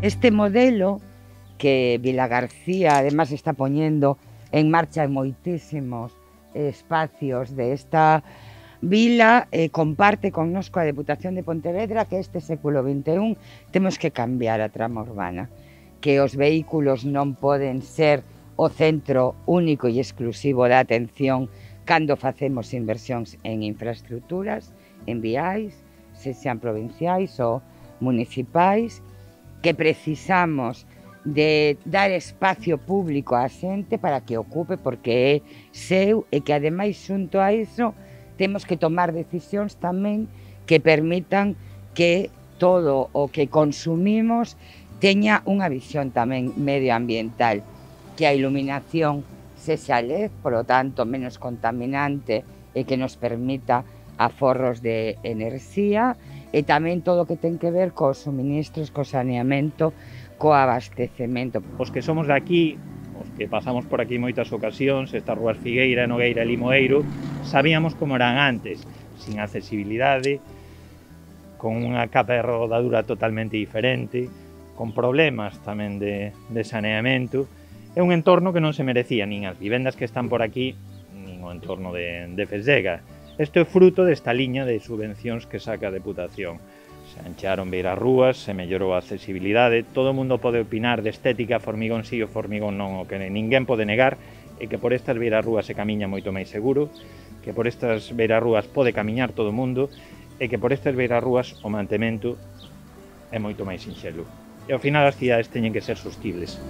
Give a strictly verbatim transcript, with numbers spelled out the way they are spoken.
Este modelo que Vilagarcía además está poñendo en marcha en moitísimos espacios de esta vila, eh, comparte connosco a Deputación de Pontevedra que este século vinte e un temos que cambiar a trama urbana, que os vehículos non poden ser o centro único e exclusivo da atención cando facemos inversións en infraestructuras, en viais, se sean provinciais ou municipais, que precisamos de dar espacio público á xente para que ocupe porque é seu e que ademais xunto a iso temos que tomar decisións tamén que permitan que todo o que consumimos teña unha visión tamén medioambiental, que a iluminación sexa L E D, por lo tanto menos contaminante e que nos permita aforros de enerxía, e tamén todo o que ten que ver cos suministros, co saneamento, co abastecemento. Os que somos de aquí, os que pasamos por aquí moitas ocasións, estas rúas Figueira, Nogueira e Limoeiro, sabíamos como eran antes, sin accesibilidade, con unha capa de rodadura totalmente diferente, con problemas tamén de, de saneamento. É un entorno que non se merecía nin as vivendas que están por aquí, nin o entorno de, de Fesega. Isto é fruto desta liña de subvencións que saca a Deputación. Se ancharon beirarrúas, se mellorou a accesibilidade, todo o mundo pode opinar de estética, Formigón sí ou Formigón non, o que ninguén pode negar é que por estas beirarrúas se camiña moito máis seguro, que por estas beirarrúas pode camiñar todo o mundo e que por estas beirarrúas o mantemento é moito máis sinxelo. E ao final as cidades teñen que ser sostibles.